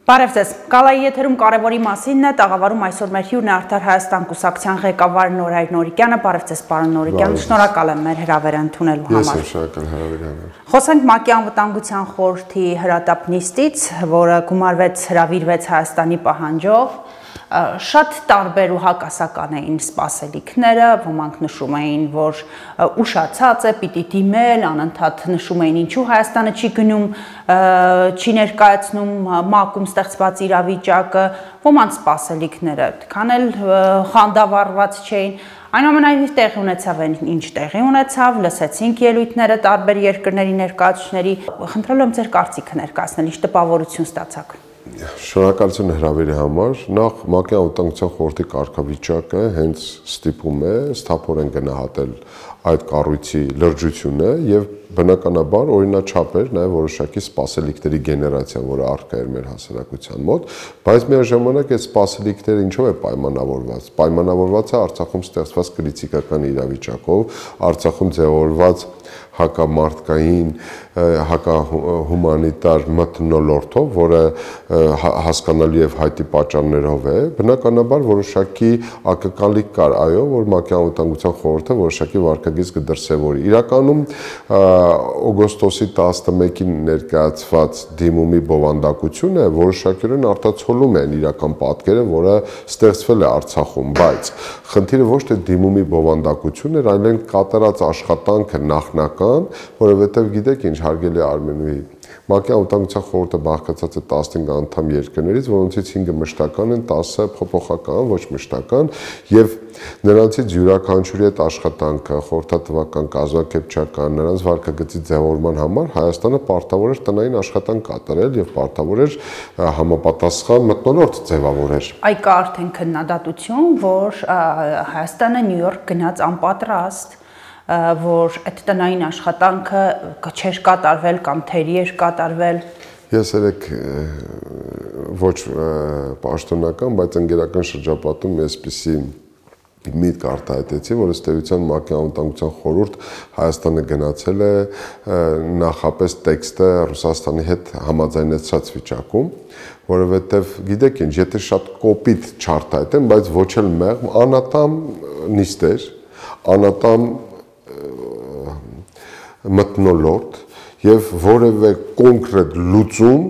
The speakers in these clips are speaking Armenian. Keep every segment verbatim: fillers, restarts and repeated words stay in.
Բարև ձեզ, Գալայի եթերում կարևորի մասին է, տաղավարում այսօր մեր հյուրն է Արդար Հայաստան կուսակցության ղեկավար Նորայր Նորիկյանը, բարև ձեզ պարոն Նորիկյան, շնորհակալ եմ մեր հրավերը ընդունելու համար։ Ես եմ շնորհակալ հրավերի համար։ Խոսենք ՄԱԿ-ի անվտանգության խորհրդի հրատապ նիստից, որը գումարվեց, հրավիրվեց Հայաստանի պահանջով, շատ տարբեր ու հակասական էին սպասելիքները, ոմանք նշում էին, որ ուշացած է, պիտի դիմել, անընդհատ նշում էին ինչու Հայաստանը չի գնում, չի ներկայացնում ՄԱԿ-ում ստեղծված իրավիճակը, ոմանց սպասելիքները այդքան էլ խանդավառված չէին, այնուամենայնիվ տեղի ունեցավ ինչ տեղի ունեցավ, լսեցինք ելույթները տարբեր երկրների ներկայացուցիչների, խնդրել եմ ձեր կարծիքը ներկայացնել, ինչ տպավորություն ստացաք։ Շնորհակալություն հրավերի համար, նախ ՄԱԿ-ի անվտանգության խորհրդի կարգավիճակը հենց ստիպում է սթափորեն գնահատել այդ կառույցի լրջությունը եւ բնականաբար օրինաչափ էր նաեւ որոշակի սպասելիքների գեներացիան, որը առկա էր մեր հասարակության մոտ, բայց միաժամանակ այդ սպասելիքները ինչով է պայմանավորված։ Պայմանավորված է Արցախում ստեղծված կրիտիկական իրավիճակով, Արցախում ձևավորված հակամարտկային, հակահումանիտար մթնոլորտով, որը հասկանալի եւ հայտի պատճառներով է, բնականաբար որոշակի ակնկալիք կար, այո, որ ՄԱԿ-ի անվտանգության խորհուրդը որոշակի վարկագիծ կդրսևորի։ Իրականում օգոստոսի տասնմեկին ներկայացված դիմումի բովանդակությունը որոշակիորեն արտացոլում է իրական պատկերը, որը ստեղծվել է Արցախում, բայց խնդիրը ոչ թե դիմումի բովանդակությունն էր, այլ կատարած աշխատանքը նախնական, որովհետև գիտեք ինչ, հարգելի Արմենուհի, ՄԱԿ-ի անվտանգության խորհուրդը բաղկացած է տասնհինգ անդամ երկրներից, որոնցից հինգը մշտական են, տասը փոփոխական, ոչ մշտական, եւ նրանցից յուրաքանչյուրի այդ աշխատանքը, խորհրդատվական, կազմակերպչական, նրանց վարկագծի ձևավորման համար Հայաստանը պարտավոր էր տնային աշխատանք կատարել եւ պարտավոր էր համապատասխան մթնոլորտ ձևավորել։ Այ կա արդեն քննադատություն, որ Հայաստանը Նյու Յորք գնաց անպատրաստ, որ այդ տնային աշխատանքը չէր կատարվել կամ թերի էր կատարվել։ Ես երեք ոչ պաշտոնական, բայց ընկերական շրջապատում այսպիսի միտք արտահայտեցի, որ ըստ էության ՄԱԿ-ի անվտանգության խորհուրդ Հայաստանը գնացել է նախապես տեքստը Ռուսաստանի հետ համաձայնեցրած վիճակում, որովհետև գիտեք ինչ, եթե շատ կոպիտ չարտահայտեմ, բայց ոչ էլ մեղմ, անատամ նիստեր, անատամ մթնոլորտ եւ որևէ կոնկրետ լուծում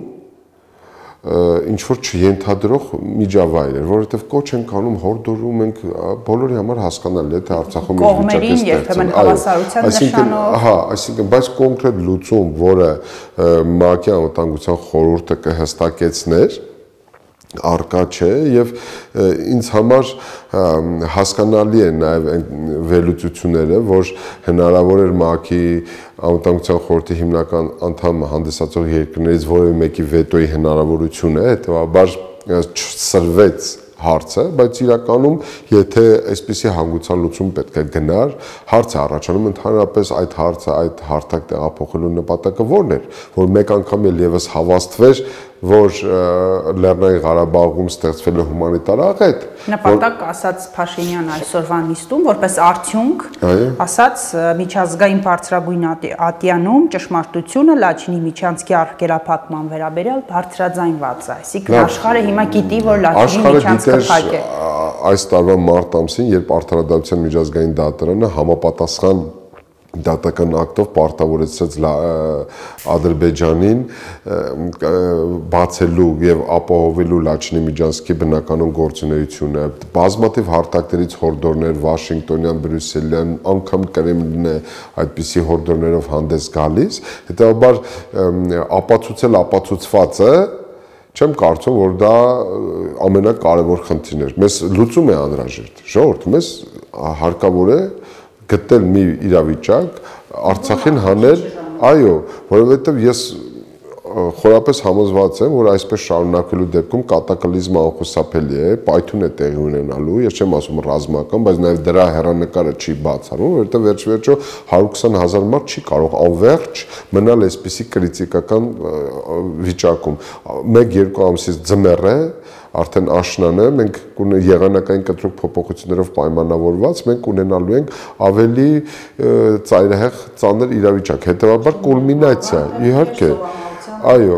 ինչ որ չենթադրող միջավայր էր, որովհետեւ կոչ ենք անում, հորդորում ենք, բոլորի համար հասկանալի է, թե Արցախում ինչ վիճակ է ստեղծվել, հավասարության նշանով, հա, այսինքն, բայց կոնկրետ լուծում, որը ՄԱԿ-ի անվտանգության խորհուրդը կհստակեցներ, արկա չէ եւ ինձ համար հասկանալի է նաեւ վերլուծությունները, որ հնարավոր էր ՄԱԿ-ի անվտանգության խորհրդի հիմնական անդամ հանդիսացող երկրներից որևէ մեկի վետոյի հնարավորությունը, հետեւաբար չսրվեց հարցը, բայց իրականում եթե այսպիսի հանգուցալ լուծում պետք է գնար, հարց է առաջանում ընդհանրապես այդ հարցը, այդ հարթակ տեղափոխելու նպատակը ո՞րն էր, որ մեկ անգամ էլ եւս հավաստվեր, որ Լեռնային Ղարաբաղում ստեղծվել է հումանիտար աղետ։ Նպատակ ասաց Փաշինյան այսօրվա նիստում, որպես արդյունք, ասաց միջազգային բարձրագույն ատյանում ճշմարտությունը Լաչինի միջանցքի արգելափակման վերաբերյալ բարձրաձայնված է, այսինքն աշխարհը հիմա գիտի, որ Լաչինի միջանցքը փակ է։ Այս տարվա մարտ ամսին, երբ Արդարադատության միջազգային դատարանը համապատասխան դատական ակտով պարտավորեցրեց Ադրբեջանին բացելու եւ ապահովելու Լաչինի միջանցքի բնականon գործունեությունը, բազմաթիվ հարթակներից հորդորներ Վաշինգտոնյան, Բրյուսելյան, անգամ Կրեմլինն է այդպիսի հորդորներով հանդես գալիս, հետեւաբար ապացուցել ապացուցվածը չեմ կարծում, որ դա ամենակարևոր խնդիրն էր։ Մեզ լուծում է անհրաժեշտ, ժողովուրդ, մեզ հարկավոր է գտնել մի իրավիճակ, Արցախին հանել, այո, որովհետև ես խորապես համոզված եմ, որ այսպես շարունակելու դեպքում կատակլիզմը անխուսափելի է, պայթուն է տեղի ունենալու, ես չեմ ասում ռազմական, բայց նաև դրա հեռանկարը չի բացառվում, որովհետև վերջ-վերջո հարյուր քսան հազար մարդ չի կարող անվերջ մնալ այսպիսի կրիտիկական վիճակում։ Մեկ-երկու ամսից ձմեռ է, արդեն աշնան է, մենք եղանակային կտրուկ փոփոխություններով պայմանավորված, մենք ունենալու ենք ավելի ծայրահեղ ծանր իրավիճակ, հետևաբար կուլմինացիա, իհարկե, այո,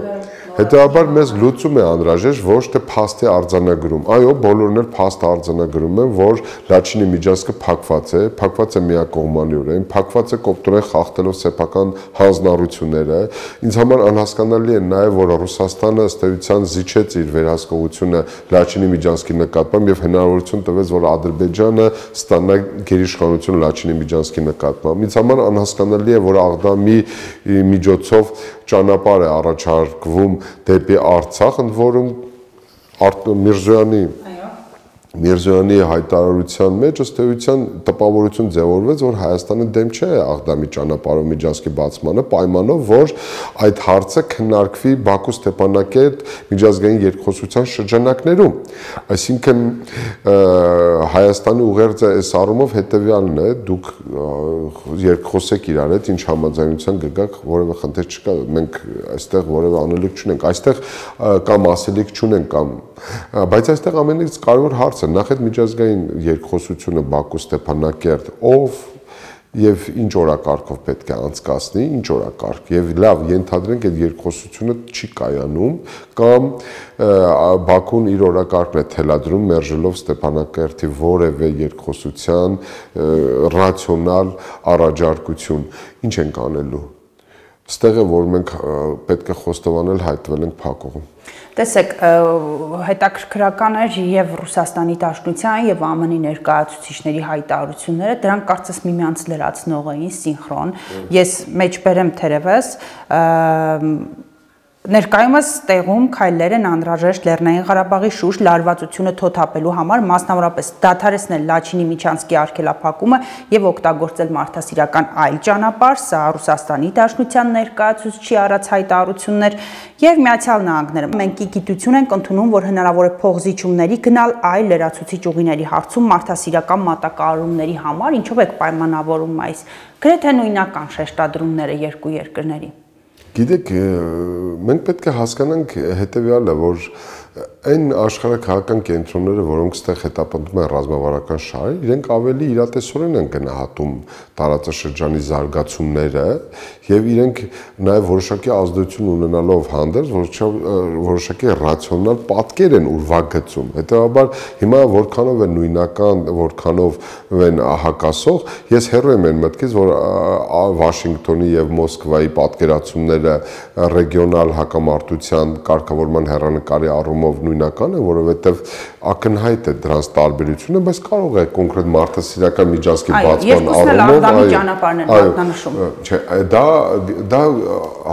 Հետևաբար մեզ լուծում է անհրաժեշտ ոչ թե փաստի արձանագրում։ Այո, բոլորն էլ փաստ արձանագրում են, որ Լաչինի միջանցքը փակված է, փակված է միակողմանիորեն, փակված է կոպտորեն խախտելով սեփական հանձնառությունները։ Ինձ համար անհասկանալի է նաև, որ Ռուսաստանը ըստ էության զիջեց իր վերահսկողությունը Լաչինի միջանցքի նկատմամբ եւ հնարավորություն տվեց, որ Ադրբեջանը ստանա գերիշխանություն Լաչինի միջանցքի նկատմամբ։ Ինձ համար անհասկանալի է, որ Աղդամի միջոցով ճանապարհ է առաջարկվում դեպի Արցախ, ընդ որում Միրզոյանի Միրզոյանի հայտարարության մեջ ըստ էության տպավորություն ձևավորվեց, որ Հայաստանը դեմ չէ Աղդամի ճանապարհով միջանցքի բացմանը, պայմանով, որ այդ հարցը քննարկվի Բաքու-Ստեփանակերտ միջազգային երկխոսության շրջանակներում։ Այսինքն Հայաստանի ուղերձը այս առումով հետևյալն է, դուք երկխոսեք իրար հետ, ինչ համաձայնության կգաք, որևէ խնդիր չկա, մենք այստեղ որևէ անելիք չունենք, այստեղ կամ ասելիք չունենք, կամ բայց այստեղ ամենից կարևոր հարցը նախ այդ միջազգային երկխոսությունը Բաքու-Ստեփանակերտ ով եւ ինչ օրակարգով պետք է անցկացնի, ինչ օրակարգ, եւ լավ ենթադրենք այդ երկխոսությունը չի կայանում կամ Բաքուն իր օրակարգն է թելադրում մերժելով Ստեփանակերտի որևէ երկխոսության ռացիոնալ առաջարկություն, ինչ ենք անելու։ Ստեղ է, որ մենք պետք է խոստովանել հայտնվել ենք փակուղում։ Տեսեք, հետաքրքրական էր եւ Ռուսաստանի Դաշնության եւ ԱՄՆ-ի ներկայացուցիչների հայտարարությունները, դրանք կարծես միմյանց լրացնող էին, սինխրոն։ Ես մեջբերեմ թերևս, ներկայումս տեղում քայլեր են անհրաժեշտ Լեռնային Ղարաբաղի շուրջ լարվածությունը թոթափելու համար, մասնավորապես դադարեցնել Լաչինի միջանցքի արգելափակումը եւ օգտագործել մարդասիրական այլ ճանապարհ, սա Ռուսաստանի Դաշնության ներկայացուցչի առած հայտարարություններ եւ Միացյալ Նահանգները։ Մենք ի գիտություն ենք ընդունում, որ հնարավոր է փողզիջումների գնալ այլ լրացուցիչ ուղիների հարցում մարդասիրական մատակարարումների համար, ինչով եք պայմանավորում այս գրեթե նույնական շեշտադրումները երկու երկրների։ Գիտեք, մենք պետք է հասկանանք հետևյալը, որ այն աշխարհաքաղաքական կենտրոնները, որոնք ստեղ հետապնդում են ռազմավարական շահը, իրենք ավելի իրատեսորեն են գնահատում տարածաշրջանի զարգացումները եւ իրենք նաեւ որոշակի ազդեցություն ունենալով հանդերձ որոշակի ռացիոնալ պատկեր են ուրվագծում։ Հետեւաբար հիմա որքանով է նույնական, որքանով են հակասող, ես հեռու եմ այն մտքից, որ Վաշինգտոնի եւ Մոսկվայի պատկերացումները ռեգիոնալ հակամարտության կարգավորման հեռանկարի առումով նույնական է, որովհետև ակնհայտ է դրանց տարբերությունը, բայց կարող է կոնկրետ մարդասիրական միջանցքի բացման առումով, չէ, դա դա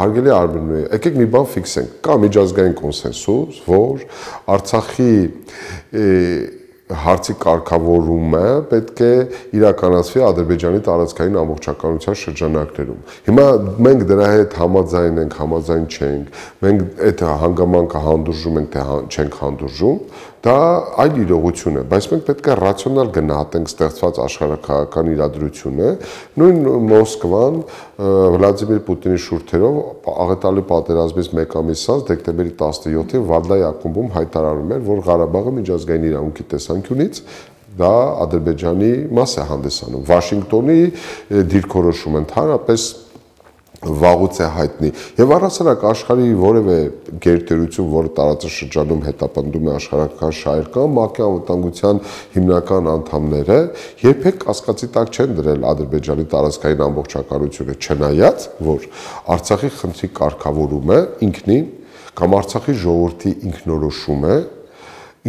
հարգելի Արմենուհի, եկեք մի բան ֆիքսենք, կա միջազգային կոնսենսուս, որ Արցախի հարցի կարգավորումը պետք է իրականացվի Ադրբեջանի տարածքային ամբողջականության շրջանակներում։ Հիմա մենք դրա հետ համաձայն ենք, համաձայն չենք, մենք այդ հանգամանքը հանդուրժում ենք, թե չենք հանդուրժում, դա այլ իրողություն է, բայց մենք պետք է ռացիոնալ գնահատենք ստեղծված աշխարհաքաղաքական իրադրությունը, նույն Մոսկվան Վլադիմիր Պուտինի շուրթերով աղետալի պատերազմից մեկ ամիս անց դեկտեմբերի տասնյոթին Վալդայի ակումբում հայտարարում էր, որ Ղարաբաղը միջազգային իրավունքի տեսանկյունից դա Ադրբեջանի մաս է հանդիսանում։ Վաշինգտոնի դիրքորոշումը ընդհանրապես վաղուց է հայտնի եւ առասարակ աշխարհի որևէ գերտերություն, որը տարածաշրջանում հետապնդում է աշխարհական շահեր կամ ՄԱԿ-ի անվտանգության հիմնական անդամները, երբեք կասկածի տակ չեն դրել Ադրբեջանի տարածքային ամբողջականությունը, չնայած որ Արցախի խնդրի կարգավորումը ինքնին կամ Արցախի ժողովրդի ինքնորոշումը,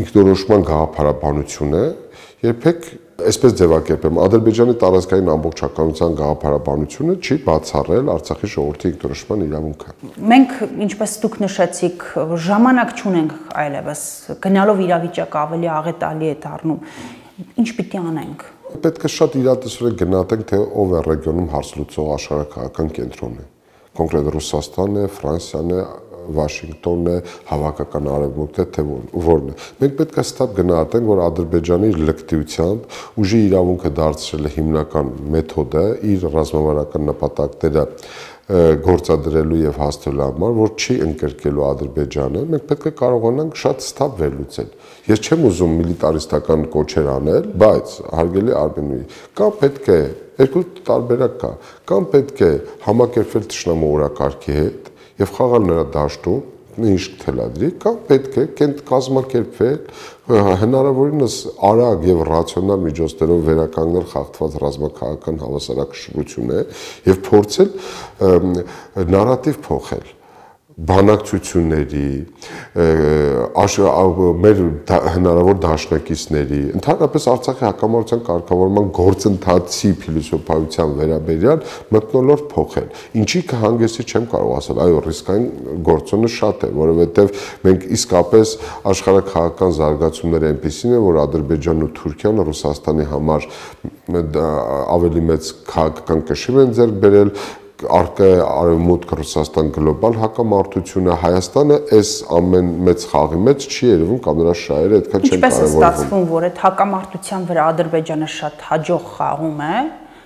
ինքնորոշման գաղափարաբանությունը երբեք այսպես ձևակերպեմ, Ադրբեջանի տարածքային ամբողջականության գաղափարաբանությունը չի բացառել Արցախի ժողովրդի ինքնորոշման իրավունքը։ Մենք, ինչպես դուք նշեցիք, ժամանակ չունենք այլևս, գնալով իրավիճակը ավելի աղետալի է դառնում։ Ինչ պիտի անենք։ Պետք է շատ իրատեսորեն գնահատենք, թե ով է ռեգիոնում հարց լուծող աշխարհաքաղաքական կենտրոնը։ Կոնկրետ Ռուսաստանն է, Ֆրանսիան է, Վաշինգտոնն է, հավաքական արևմուտքն է, թե որն է։ Մենք պետք է ստապ գնահատենք, որ Ադրբեջանի լկտիությամբ ուժի իրավունքը դարձրել է հիմնական մեթոդը իր ռազմավարական նպատակները գործադրելու եւ հասցնելու համար, որ չի ընկրկելու Ադրբեջանը, մենք պետք է կարողանանք շատ ստապ վերլուծել։ Ես չեմ ուզում միլիտարիստական կոչեր անել, բայց հարգելի Արմենուհի, կամ պետք է երկու տարբերակ կա, կամ պետք է համակերպվել թշնամու օրակարգի հետ եւ խաղալ նրա դաշտում, ինչ թելադրի, կամ պետք է կենտ կազմակերպվել, հնարավորինս արագ եւ ռացիոնալ միջոցներով վերականգնել խախտված ռազմաքաղաքական հավասարակշռությունը եւ փորձել նարատիվ փոխել բանակցությունների, մեր հնարավոր դաշնակիցների, ընդհանրապես Արցախի հակամարտության կարգավորման գործընթացի փիլիսոփայության վերաբերյալ մթնոլորտ փոխել։ Ինչի կհանգեցնի չեմ կարող ասել, այո, ռիսկային գործոնը շատ է, որովհետև մենք իսկապես աշխարհաքաղաքական զարգացումները այնպիսին են, որ Ադրբեջանն ու Թուրքիան Ռուսաստանի համար ավելի մեծ քաղաքական կշիռ են ձեռք բերել, արկա արևմուտք Ռուսաստան գլոբալ հակամարտությունը, Հայաստանը այս ամեն մեծ խաղի մեջ չի երևում կամ նրա շահերը այդքան չեն կարևորվում։ Ինչպես է ստացվում, որ այդ հակամարտության վրա Ադրբեջանը շատ հաջող խաղում է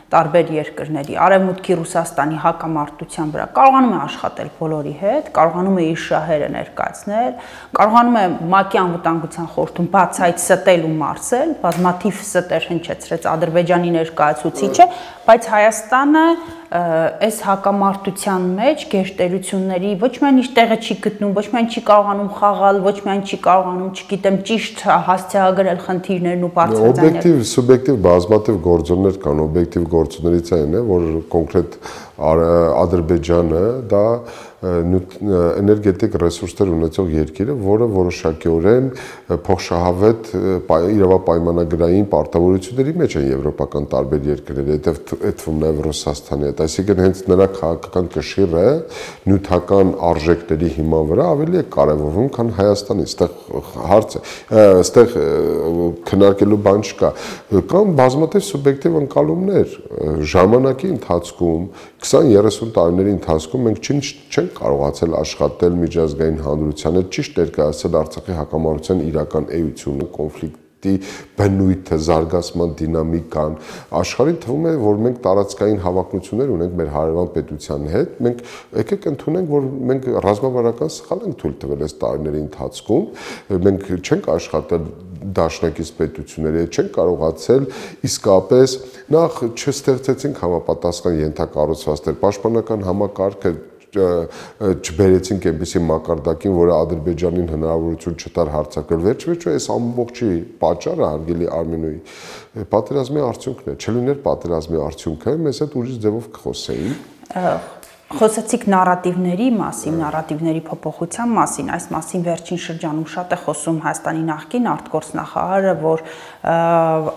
տարբեր երկրների, Արևմուտքի Ռուսաստանի հակամարտության վրա կարողանում է աշխատել բոլորի հետ, կարողանում է իր շահերը ներկայացնել, կարողանում է ՄԱԿ-ի անվտանգության խորհրդում բացայց ստել ու մարսել, բազմաթիվ ստեր հնչեցրեց Ադրբեջանի ներկայացուցիչը, բայց Հայաստանը այս հակամարտության մեջ գերտերությունների ոչ միայն իր տեղը չի գտնում, ոչ միայն չի կարողանում խաղալ, ոչ միայն չի կարողանում, չգիտեմ, ճիշտ հասցեագրել խնդիրներն ու բարձրաձայնել։ Օբյեկտիվ, սուբյեկտիվ բազմաթիվ գործոններ կան, օբյեկտիվ գործոններից այն է, որ կոնկրետ Ադրբեջանը դա էներգետիկ ռեսուրսներ ունեցող երկիր է, որը որոշակիորեն փոխշահավետ իրավապայմանագրային պարտավորությունների մեջ են եվրոպական տարբեր երկրներ, այդ թվում նաև Ռուսաստանի հետ, այսինքն հենց նրա քաղաքական կշիռը նյութական արժեքների հիման վրա ավելի է կարևորվում, քան Հայաստանի, այստեղ հարց է, այստեղ քննարկելու բան չկա, կան բազմաթիվ սուբյեկտիվ ընկալումներ, ժամանակի ընթացքում քսան երեսուն տարիների ընթացքում մենք չենք կարողացել աշխատել միջազգային հանրության հետ ճիշտ ներկայացնել Արցախի հակամարտության իրական էությունը, կոնֆլիկտի բնույթը, զարգացման դինամիկան, աշխարհին թվում է, որ մենք տարածքային հավակնություններ ունենք մեր հարևան պետության հետ, մենք եկեք ընդունենք, որ մենք ռազմավարական սխալ ենք թույլ տվել այս տարիների ընթացքում, մենք չենք աշխատել դաշնակից պետությունների հետ, չենք կարողացել իսկապես նախ չստեղծեցինք համապատասխան ենթակառուցվածքներ, պաշտպանական համակարգը չբերեցինք այնպիսի մակարդակին, որը Ադրբեջանին հնարավորություն չտար հարձակվել, վերջ-վերջո այս ամբողջի պատճառը հարգելի Արմենուի պատերազմի արդյունքն է, չլիներ պատերազմի արդյունքը, մեզ հետ ուրիշ ձևով կխոսեին։ Խոսեցիք նարատիվների մասին, նարատիվների փոփոխության մասին, այս մասին վերջին շրջանում շատ է խոսում Հայաստանի նախկին արտգործնախարարը, որ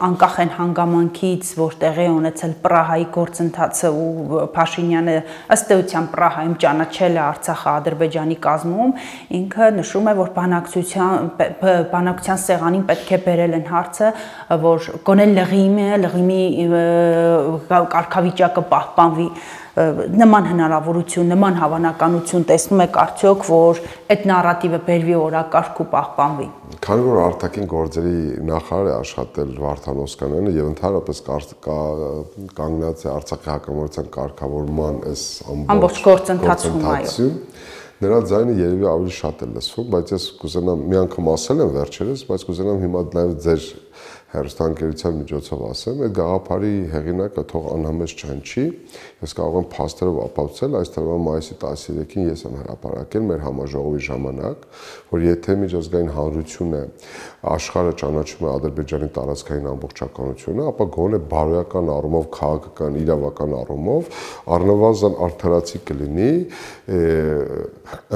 անկախ են հանգամանքից, որ տեղի է ունեցել Պրահայի գործընթացը ու Փաշինյանը ըստ էության Պրահայում ճանաչել է Արցախը Ադրբեջանի կազմում, ինքը նշում է, որ բանակցության բանակցության սեղանին պետք է բերել են հարցը, որ գոնե լղիմը, լղիմի կարգավիճակը պահպանվի, նման հնարավորություն, նման հավանականություն տեսնում եք արդյոք, որ այդ նարատիվը բերվի օրակարգ ու պահպանվի։ Քանի որ արտաքին գործերի նախարար է աշխատել Վարդան Օսկանյանը եւ ընդհանրապես կանգնած է Արցախի հակամարտության կարգավորման այս ամբողջ գործընթացում, այո։ Նրա ձայնը երևի ավելի շատ է լսվում, բայց ես կուզենամ մի անգամ ասել եմ վերջերս, բայց կուզենամ հիմա նաև ձեր հեռուստաընկերության միջոցով ասեմ, այդ գաղափարի հեղինակը թող անհամեզ չհնչի, ես կարող եմ փաստերով ապացուցել, այս տարվա մայիսի տասներեքին ես եմ հրապարակել մեր համաժողովի ժամանակ, որ եթե միջազգային հանրությունը աշխարհը ճանաչում է Ադրբեջանի տարածքային ամբողջականությունը, ապա գոնե բարոյական առումով, քաղաքական, իրավական առումով առնվազն արդարացի կլինի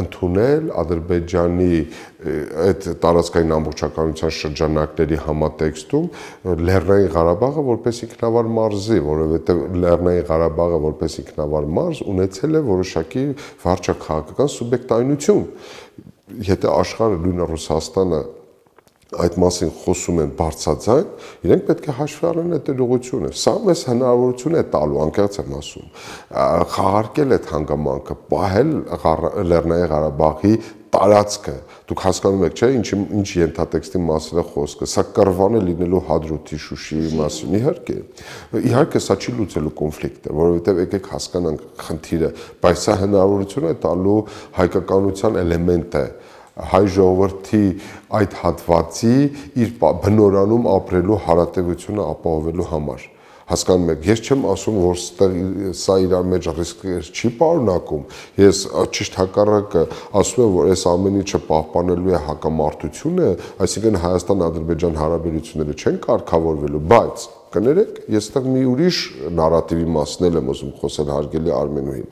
ընդունել Ադրբեջանի այդ տարածքային ամբողջականության շրջանակների համատեքստում Լեռնային Ղարաբաղը որպես ինքնավար մարզի, որովհետև Լեռնային Ղարաբաղը որպես ինքնավար մարզ ունեցել է որոշակի վարչաքաղաքական սուբյեկտայնություն։ Եթե աշխարհը նույնը Ռուսաստանը այդ մասին խոսում են բարձրաձայն, իրենք պետք է հաշվի առնեն այդ ուղղությունը։ Սա մեզ հնարավորություն է տալու, անկեղծ եմ ասում, խաղարկել այդ հանգամանքը, պահել Լեռնային Ղարաբաղի տարածքը։ Դուք հասկանում եք, չէ՞, ինչ ինչ ենթատեքստի մասին է խոսքը։ Սա կռվան է լինելու Հադրութի, Շուշիի մասին, իհարկե։ Իհարկե սա չի լուծելու կոնֆլիկտը, որովհետև եկեք հասկանանք խնդիրը, բայց սա հնարավորություն է տալու հայկականության էլեմենտ է հայ ժողովրդի այդ հատվածի իր բնորանում ապրելու հարատևությունը ապահովելու համար։ Հասկանում եք, ես չեմ ասում, որ սա իր մեջ ռիսկեր չի պարունակում, ես ճիշտ հակառակը ասում եմ, որ այս ամեն ինչը պահպանելու է հակամարտությունը, այսինքն Հայաստան-Ադրբեջան հարաբերությունները չեն կարգավորվելու, բայց կներեք, ես այդտեղ մի ուրիշ նարատիվի մասին եմ ուզում խոսել, հարգելի Արմենուհի։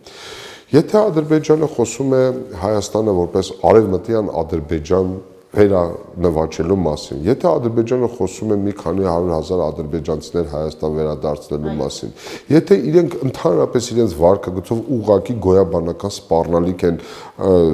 Եթե Ադրբեջանը խոսում է Հայաստանը որպես արևմտյան Ադրբեջան վերանվաճելու մասին, եթե Ադրբեջանը խոսում է մի քանի հարյուր հազար ադրբեջանցիներ Հայաստան վերադարձնելու մասին, եթե իրենք ընդհանրապես իրենց վարկագծով ուղղակի գոյաբանական սպառնալիք են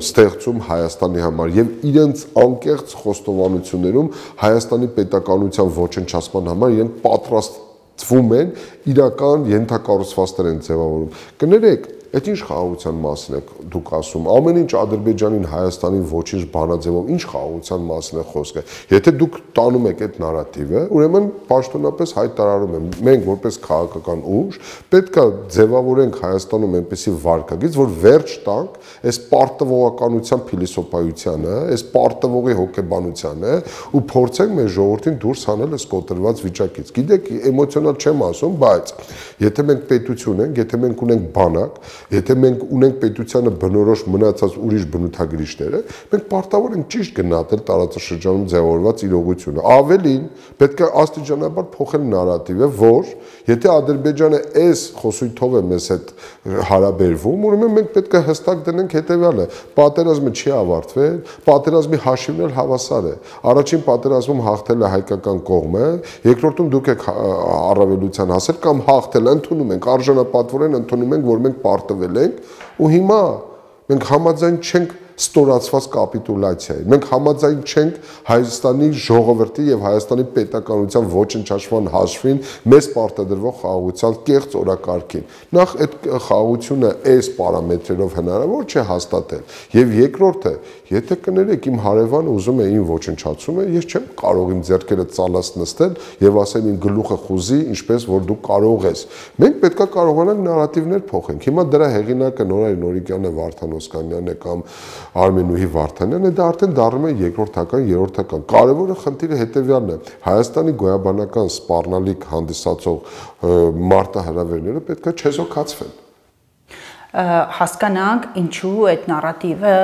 ստեղծում Հայաստանի համար եւ իրենց անկեղծ խոստովանություններում Հայաստանի պետականության ոչնչացման համար իրենք պատրաստվում են իրական ենթակառուցվածքներ են ձևավորում։ Կներեք, այդ ինչ խաղաղության մասին եք դուք ասում, ամեն ինչ Ադրբեջանին, Հայաստանին ոչինչ բանաձևով, ինչ խաղաղության մասին է խոսքը։ Եթե դուք տանում եք այդ նարատիվը, ուրեմն պաշտոնապես հայտարարում եմ, մենք որպես քաղաքական ուժ պետք է ձևավորենք Հայաստանում այնպիսի վարկագիծ, որ վերջ տանք այս պարտվողականության փիլիսոփայությանը, այս պարտվողի հոգեբանությանը ու փորձենք մեր ժողովրդին դուրս հանել այս կոտրված վիճակից։ Գիտեք, էմոցիոնալ չեմ ասում, բայց եթե մենք պետություն ենք, եթե մենք ունենք բանակ, եթե մենք ունենք պետությանը բնորոշ մնացած ուրիշ բնութագրիչները, մենք պարտավոր ենք ճիշտ գնահատել տարածաշրջանում ձևավորված իրողությունը։ Ավելին, պետք է աստիճանաբար փոխել նարատիվը, որ եթե Ադրբեջանը այս խոսույթով է մեզ հետ հարաբերվում, ուրեմն մենք պետք է հստակ դնենք հետևյալը. պատերազմը չի ավարտվել, պատերազմի հաշիվն էլ հավասար է։ Առաջին պատերազմում հաղթել է հայկական կողմը, երկրորդում դուք եք առավելության հասել կամ հաղթել, ընդունում ենք, արժանապատվորեն ընդունում ենք, որ մենք պարտվել ենք, ու հիմա մենք համաձայն չենք ստորացված կապիտուլյացիայի։ Մենք համաձայն չենք Հայաստանի ժողովրդի եւ Հայաստանի պետականության ոչնչացման հաշվին մեզ պարտադրվող խաղաղության կեղծ օրակարգին։ Նախ այդ խաղաղությունը այս պարամետրերով հնարավոր չէ հաստատել։ Եվ երկրորդը, եթե կներեք իմ հարևանը ուզում է ին ոչնչացումը, ես չեմ կարող իմ ձեռքերը ծալած նստել եւ ասել ին գլուխը խուզի, ինչպես որ դու կարող ես։ Մենք պետքա կարողանանք նարատիվներ փոխենք։ Հիմա դրա հեղինակը Նորայր Նորիկյանը, Վարդան Օսկանյանը կամ Արմենուհի Վարդանյանը դա արդեն դառնում է երկրորդական, երրորդական։ Կարևորը խնդիրը հետևյալն է. Հայաստանի գոյաբանական սպառնալիք հանդիսացող մարտահրավերները պետք է չեզոքացվեն։ Հասկանանք, ինչու այդ նարատիվը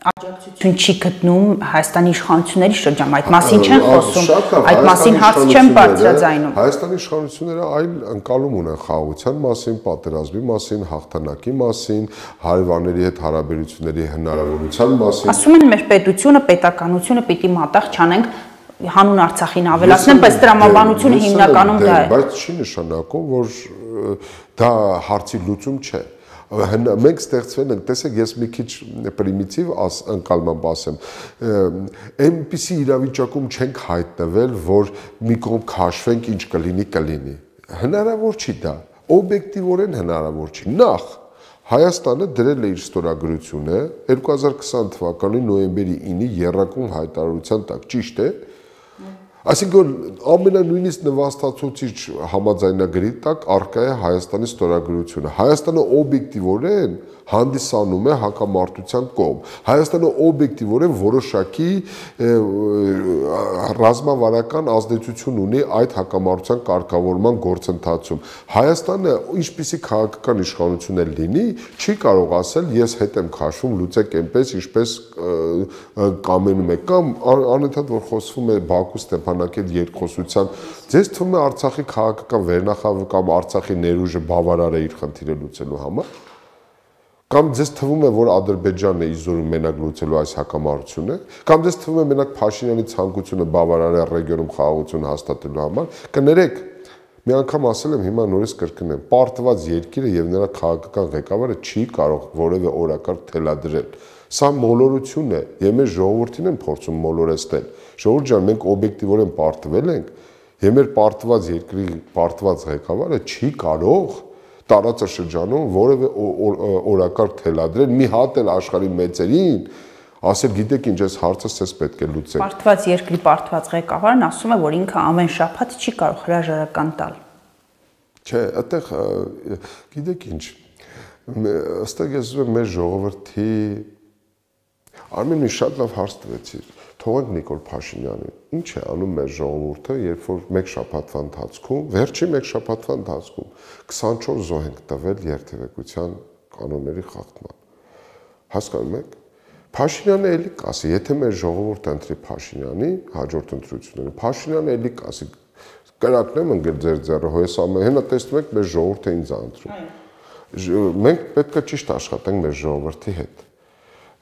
աջակցություն չի գտնում Հայաստանի իշխանությունների շրջանում, այդ մասին չեն խոսում, այդ մասին հարց չեն բարձրաձայնում։ Հայաստանի իշխանությունները այլ ընկալում ունեն խաղաղության մասին, պատերազմի մասին, հաղթանակի մասին, հարևանների հետ հարաբերությունների հնարավորության մասին։ Ասում են մեր պետությունը, պետականությունը պիտի մատաղ չանենք հանուն Արցախին ավելացնեն, բայց տրամաբանությունը հիմնականում դա է։ Բայց չի նշանակում, որ դա հարցի լուծում չէ։ Մենք ստեղծվել ենք, տեսեք, ես մի քիչ պրիմիտիվ ընկալմամբ ասեմ, այնպիսի իրավիճակում չենք հայտնվել, որ մի կողմ քաշվենք, ինչ կլինի, կլինի։ Հնարավոր չի դա, օբյեկտիվորեն հնարավոր չի։ Նախ Հայաստանը դրել է իր ստորագրությունը երկու հազար քսան թվականի նոյեմբերի ինի եռակուն հայտարարության տակ, ճիշտ է։ Այսինքն ամենանույնիսկ նվաստացուցիչ համաձայնագրի տակ առկա է Հայաստանի ստորագրությունը։ Հայաստանը օբյեկտիվորեն հանդիսանում է հակամարտության կողմ։ Հայաստանը օբյեկտիվորեն որոշակի ռազմավարական ազդեցություն ունի այդ հակամարտության կարգավորման գործընթացում։ Հայաստանը ինչպիսի քաղաքական իշխանություն էլ լինի, չի կարող ասել ես հետ եմ քաշվում, լուծեք այնպես, ինչպես կամենում եք, կամ անընդհատ որ խոսվում է Բաքու Ստեփանակերտ երկխոսության, ձեզ թվում է Արցախի քաղաքական վերնախավը կամ Արցախի ներուժը բավարար է իր խնդիրը լուծելու համար։ Կամ ձեզ թվում է, որ Ադրբեջանն է իզորում մենակ լուծելու այս հակամարտությունը, կամ ձեզ թվում է մենակ Փաշինյանի ցանկությունը բավարար է ռեգիոնում խաղաղություն հաստատելու համար, կներեք, մի անգամ ասել եմ, հիմա նորից կրկնեմ, պարտված երկիրը եւ նրա քաղաքական ղեկավարը չի կարող որևէ օրակարգ թելադրել։ Սա մոլորություն է, եւ մեր ժողովրդին են փորձում մոլորեցնել։ Ժողովուրդ ջան, մենք օբյեկտիվորեն պարտվել ենք, եւ մեր պարտված երկրի պարտված ղեկավարը չի կարող տարածաշրջանում որևէ օրակարգ թելադրել, մի հատ էլ աշխարհի մեծերին ասել, գիտեք ինչ, այս հարցը ցես պետք է լուծել։ Պարտված երկրի պարտված ղեկավարն ասում է, որ ինքը ամեն շաբաթ չի կարող հրաժարական տալ։ Չէ, այդտեղ գիտեք ինչ, ըստ ես ուզում եմ մեր ժողովրդի Արմեն մի շատ լավ հարց տվեցիր։ թողենք Նիկոլ Փաշինյանին։ Ինչ է անում մեր ժողովուրդը, երբ որ մեկ շաբաթվա ընթացքում, վերջի մեկ շաբաթվա ընթացքում քսանչորս զոհ ենք տվել երթևեկության կանոնների խախտման։ Հասկանում եք։ Փաշինյանը էլի կասի, եթե մեր ժողովուրդը ընտրի Փաշինյանի հաջորդ ընտրությունները, Փաշինյանը էլի կասի, կրակնեմ ընկել ձեր ձեռը, հոյս ամեն հենա տեսնում եք մեր ժողովուրդը ինձ ընտրում։ Մենք պետք է ճիշտ աշխատենք մեր ժողովրդի հետ։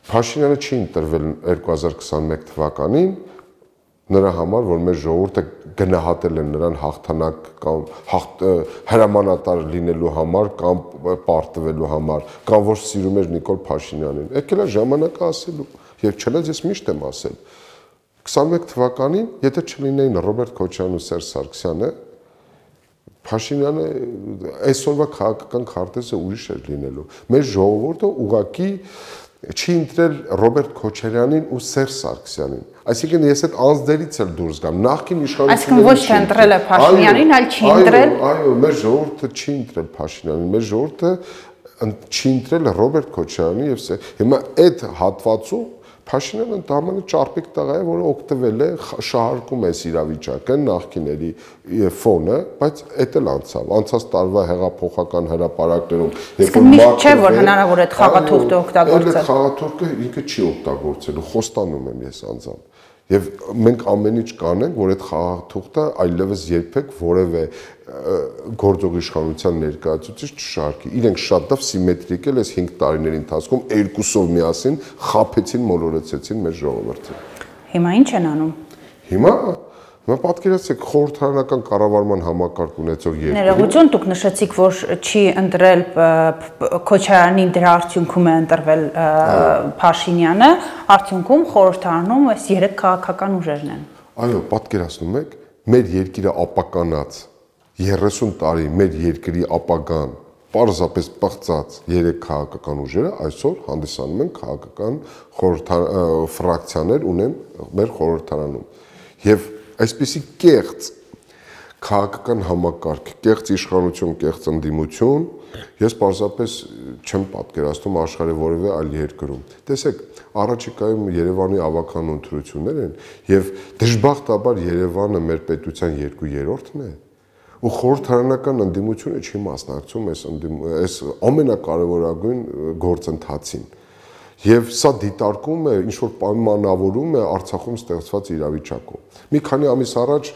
Փաշինյանը չի ընտրվել երկու հազար քսանմեկ թվականին նրա համար, որ մեր ժողովուրդը գնահատել են նրան հաղթանակ կամ հրամանատար լինելու համար կամ պարտվելու համար, կամ որ սիրում էր Նիկոլ Փաշինյանին։ Եկել է ժամանակը ասելու, եւ չնայած ես միշտ եմ ասել, քսանմեկ թվականին, եթե չլինեին Ռոբերտ Քոչարյանն ու Սերժ Սարգսյանը, Փաշինյանը այսօրվա քաղաքական քարտեզը ուրիշ էր լինելու։ Մեր ժողովուրդը ուղղակի չի ընտրել Ռոբերտ Քոչարյանին ու Սերժ Սարգսյանին։ Այսինքն ես այդ անձներից էլ դուրս գամ։ Նախկին իշխանությունները Այսինքն ոչ թե ընտրել է Փաշինյանին, այլ չի ընտրել։ Այո, մեր ժողովուրդը չի ընտրել Փաշինյանին, մեր ժողովուրդը չի ընտրել Ռոբերտ Քոչարյանին եւ հիմա այդ հատվածում Փաշինյանը ընդհանրապես ճարպիկ տղա է, որը օգտվել է, շահարկում է իրավիճակը, նախկիների ֆոնը, բայց էդ էլ անցավ։ Անցած տարվա հեղափոխական հրապարակներում, երբ որ միշտ չէ, որ հնարավոր է այդ խաղաթուղթը օգտագործել։ Այդ խաղաթուղթը ինքը չի օգտագործելու, խոստանում եմ ես անձամբ։ Եվ մենք ամեն ինչ կանենք, որ այդ խաղաթուղթը այլևս երբեք որևէ գործող իշխանության ներկայացուցիչ չշարքի։ Իրենք շատ լավ սիմետրիկ էլ այս հինգ տարիների ընթացքում երկուսով միասին խաբեցին, մոլորեցեցին մեր ժողովրդին։ Հիմա ինչ են անում։ Հիմա Մա պատկերացեք խորհրդարանական կառավարման համակարգ ունեցող երկրի։ Ներողություն, դուք նշեցիք, որ չի ընտրել Քոչարյանին, դրա արդյունքում է ընտրվել Փաշինյանը, արդյունքում խորհրդարանում այս երեք քաղաքական ուժերն են։ Այո, պատկերացնում եք, մեր երկիրը ապականած երեսուն տարի մեր երկրի ապագան պարզապես պղծած երեք քաղաքական ուժերը այսօր հանդիսանում են քաղաքական ֆրակցիաներ ունեն մեր խորհրդարանում։ Եվ այսպիսի կեղծ քաղաքական համակարգ, կեղծ իշխանություն, կեղծ ընդդիմություն, ես պարզապես չեմ պատկերացնում աշխարհի որևէ այլ երկրում։ Տեսեք, առաջիկայում Երևանի ավագան ընտրություններ են եւ դժբախտաբար Երևանը մեր պետության երկու երրորդն է։ Ու խորհրդարանական ընդդիմությունը չի մասնակցում այս այս ամենակարևորագույն գործընթացին։ Եվ սա դիտարկում է, ինչ որ պայմանավորում է Արցախում ստեղծված իրավիճակով։ Մի քանի ամիս առաջ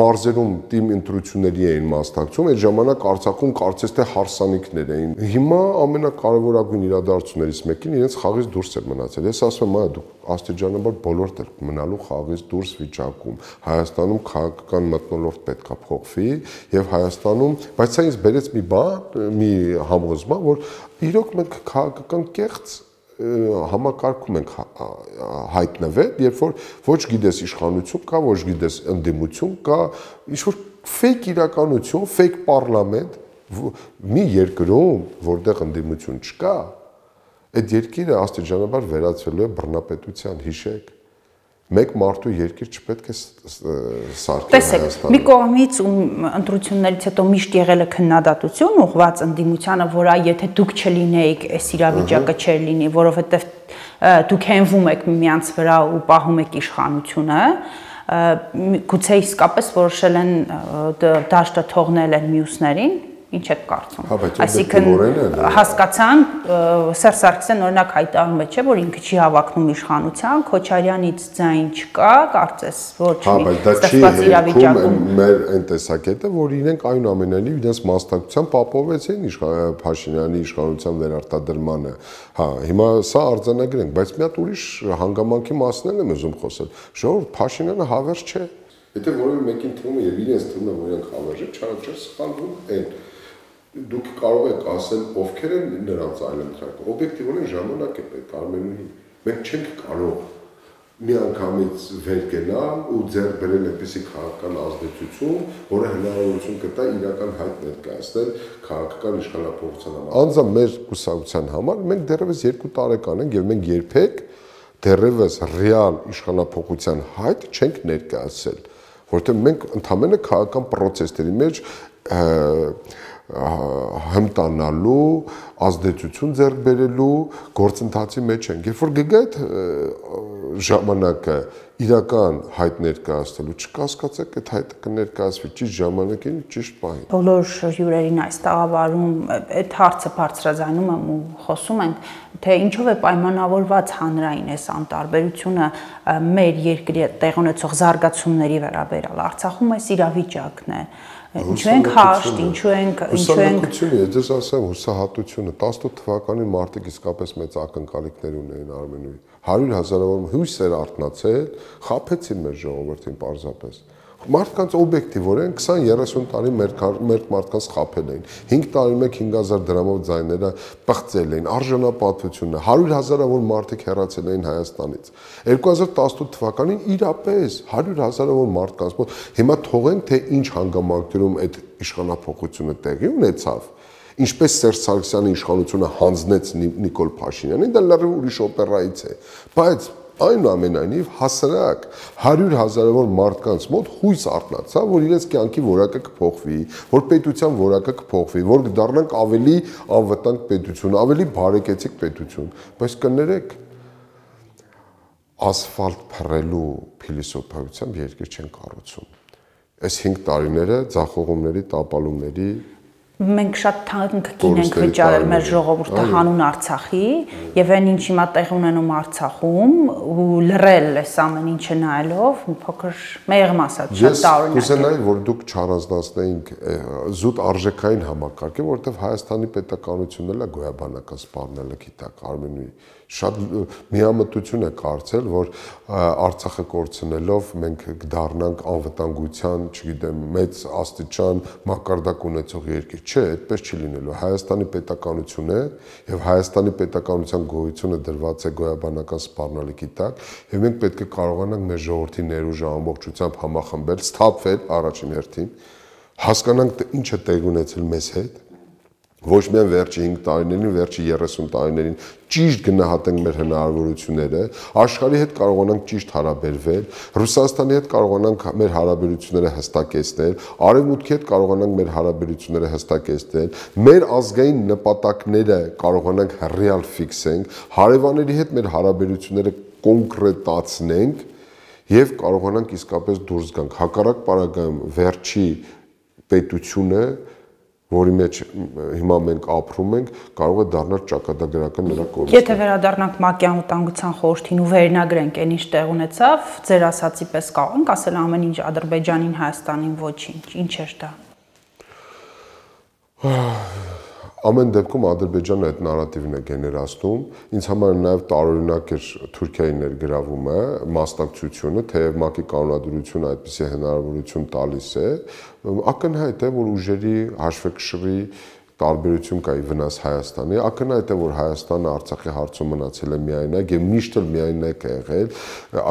մարզերում թիմ ընտրությունների էին մասնակցում, այդ ժամանակ Արցախում կարծես թե հարսանիքներ էին։ Հիմա ամենակարևորագույն իրադարձություններից մեկին իրենց խաղից դուրս էր մնացել։ Ես ասում եմ, այ դուք աստիճանաբար բոլորդ եք մնալու խաղից դուրս վիճակում։ Հայաստանում քաղաքական մթնոլորտ պետքա փոխվի եւ Հայաստանում, բայց սա ինձ բերեց մի բան, մի համոզման, որ իրոք մենք քաղաքական կեղծ համակարգում ենք հայտնվել, երբ որ ոչ գիտես իշխանություն կա, ոչ գիտես ընդդիմություն կա, ինչ որ ֆեյք իրականություն, ֆեյք պարլամենտ, մի երկրում, որտեղ ընդդիմություն չկա, այդ երկիրը աստիճանաբար վերածվելու է բռնապետության, հիշեք։ Մեկ մարդու երկիր չպետք է սարքել Հայաստանում։ Մի կողմից ու ընտրություններից հետո միշտ եղել է քննադատություն ուղղված ընդդիմությանը, որ այ եթե դուք չլինեիք, այս իրավիճակը չէր լինի, որովհետև դուք հենվում եք միմյանց վրա ու պահում եք իշխանությունը, գուցե իսկապես որոշել են դաշտը թողնել են մյուսներին։ Ինչ եք կարծում։ Այսինքն հասկացան Սերժ Սարգսյանն օրինակ հայտարարում է, չէ, որ ինքը չի հավակնում իշխանության, Քոչարյանից ձայն չկա, կարծես ոչ մի ստեղծված իրավիճակում։ Մեր այն տեսակետը, որ իրենք այնուամենայնիվ իրենց մասնակցությամբ ապահովեցին Փաշինյանի իշխանության վերարտադրմանը։ Հա, հիմա սա արձանագրենք, բայց մի հատ ուրիշ հանգամանքի մասին եմ ուզում խոսել։ Ժողովուրդ, Փաշինյանը հավերժ չէ։ Եթե որևէ մեկին թվում է եւ իրենց թվում է, որ իրենք հավերժ են, չարաչար սխալվում են։ Դուք կարող եք ասել ովքեր են նրանց այլընտրանքը։ Օբյեկտիվորեն ժամանակ է պետք Արմենուհի։ Մենք չենք կարող միանգամից վեր գնալ ու ձեռք բերել այնպիսի քաղաքական ազդեցություն, որը հնարավորություն կտա իրական հայտ ներկայացնել քաղաքական իշխանապողության համար։ Անձամբ մեր կուսակցության համար մենք դեռևս երկու տարեկան ենք եւ մենք երբեք դեռևս ռեալ իշխանապողության հայտ չենք ներկայացել, որովհետեւ մենք ընդհանրապես քաղաքական process-ների մեջ հմտանալու, ազդեցություն ձեռք բերելու գործընթացի մեջ ենք։ Երբ որ գգա այդ ժամանակը իրական հայտ ներկայացնելու, չկասկածեք այդ հայտը կներկայացվի ճիշտ ժամանակին, ճիշտ պահին։ Բոլոր հյուրերին այս տաղավարում այդ հարցը բարձրաձայնում եմ ու խոսում ենք, թե ինչով է պայմանավորված հանրային այս անտարբերությունը մեր երկրի տեղ ունեցող զարգացումների վերաբերյալ։ Արցախում այս իրավիճակն է։ Ինչու ենք հաշտ, ինչու ենք, ինչու ենք հուսահատությունը, ես ասեմ հուսահատությունը, տասնութ թվականին մարդիկ իսկապես մեծ ակնկալիքներ ունեին Արմենուի։ հարյուր հազարավոր հույս էր արթնացել, խաբեցին մեր ժողովրդին պարզապես։ Մարդկանց օբյեկտիվորեն քսան երեսուն տարի մեր մեր մարդկանց խաբել էին։ հինգ տարի մեկ հինգ հազար դրամով ձայները պղծել էին, արժանապատվությունը, հարյուր հազարավոր մարդիկ հեռացել էին Հայաստանից։ երկու հազար տասնութ թվականին իրապես հարյուր հազարավոր մարդկանց մոտ հիմա թողենք թե ինչ հանգամանքներում այդ իշխանափոխությունը տեղի ունեցավ։ Ինչպես Սերժ Սարգսյանի իշխանությունը հանձնեց Նիկոլ Փաշինյանին, դա լրիվ ուրիշ օպերայից է, բայց այնուամենայնիվ հասարակ հարյուր հազարավոր մարդկանց մոտ հույս արթնացավ, որ իրենց կյանքի որակը կփոխվի, որ պետության որակը կփոխվի, որ դառնանք ավելի անվտանգ պետություն, ավելի բարեկեցիկ պետություն, բայց կներեք ասֆալտ փռելու փիլիսոփայությամբ երկիր չեն կառուցում։ Այս հինգ տարիները ձախողումների, տապալումների Մենք շատ թանկ կին ենք վճարել մեր ժողովուրդը հանուն Արցախի եւ այն ինչ հիմա տեղ ունենում Արցախում ու լռել այս ամեն ինչը նայելով մի փոքր մեղմ ասած շատ տարօրինակ է։ Ես կուզենայի, որ դուք չառանձնացնեինք զուտ արժեքային համակարգը, որովհետեւ Հայաստանի պետականությունն էլ է գոյաբանական սպառնելը գիտակ Արմենուի շատ միամտություն է կարծել, որ Արցախը կորցնելով մենք կդառնանք անվտանգության, չգիտեմ, մեծ աստիճան մակարդակ ունեցող երկիր։ Չէ, այդպես չի լինելու։ Հայաստանի պետականություն է եւ Հայաստանի պետականության գոյությունը դրված է գոյաբանական սպառնալիքի տակ եւ մենք պետք է կարողանանք մեր ժողովրդի ներուժը ամբողջությամբ համախմբել, սթափվել առաջին հերթին, հասկանանք ինչ է տեղ ունեցել մեզ հետ, ոչ միայն վերջի հինգ տարիներին, վերջի երեսուն տարիներին ճիշտ գնահատենք մեր հնարավորությունները, աշխարհի հետ կարողանանք ճիշտ հարաբերվել, Ռուսաստանի հետ կարողանանք մեր հարաբերությունները հստակեցնել, Արևմուտքի հետ կարողանանք մեր հարաբերությունները հստակեցնել, մեր ազգային նպատակները կարողանանք ռեալ ֆիքսենք, հարևանների հետ մեր հարաբերությունները կոնկրետացնենք եւ կարողանանք իսկապես դուրս գանք։ Հակառակ պարագայում վերջի պետությունը որի մեջ հիմա մենք ապրում ենք, կարող է դառնալ ճակատագրական նրա կորուստը։ Եթե վերադառնանք ՄԱԿ-ի անվտանգության խորհրդին ու վերնագրենք այն ինչ տեղ ունեցավ, ձեր ասացի պես կարող ենք ասել ամեն ինչ Ադրբեջանին, Հայաստանին ոչինչ, ինչ էր դա։ Ամեն դեպքում Ադրբեջանը այդ նարատիվն է գեներացնում, ինձ համար նաև տարօրինակ էր Թուրքիայի ներգրավումը, մասնակցությունը, թեև ՄԱԿ-ի կանոնադրությունը այդպիսի հնարավորություն տալիս է, ակնհայտ է, որ ուժերի հաշվեկշռի տարբերություն կա ի վնաս Հայաստանի, ակնհայտ է, որ Հայաստանը Արցախի հարցում մնացել է միայնակ եւ միշտ էլ միայնակ է եղել,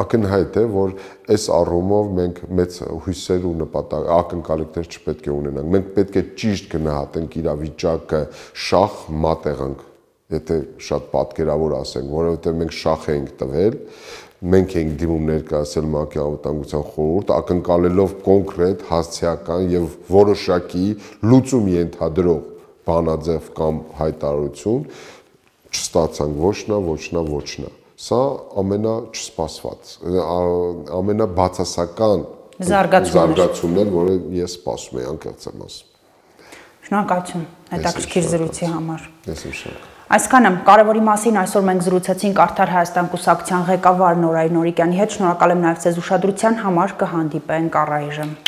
ակնհայտ է, որ այս առումով մենք մեծ հույսեր ու նպատակ ակնկալիքներ չպետք է ունենանք։ Մենք պետք է ճիշտ գնահատենք իրավիճակը, շախ մատ եղանք, եթե շատ պատկերավոր ասենք, որովհետեւ մենք շախ էինք տվել, մենք ենք դիմում ներկայացել ՄԱԿ-ի անվտանգության խորհուրդ, ակնկալելով կոնկրետ, հասցեական եւ որոշակի լուծում ենթադրող բանաձև կամ հայտարարություն, չստացանք ոչ նա, ոչ նա, ոչ նա։ Սա ամենաչսպասված, ամենաբացասական զարգացումն էր, որը ես սպասում էի, անկեղծ եմ ասում։ Շնորհակալություն հետաքրքիր զրույցի համար։ Ես եմ շնորհակալ։ Այսքանը կարևորի մասին այսօր մենք զրուցեցինք Արդար Հայաստան կուսակցության ղեկավար Նորայր Նորիկյանի հետ։ Շնորհակալ եմ նաև ձեզ ուշադրության համար, կհանդիպենք առայժմ։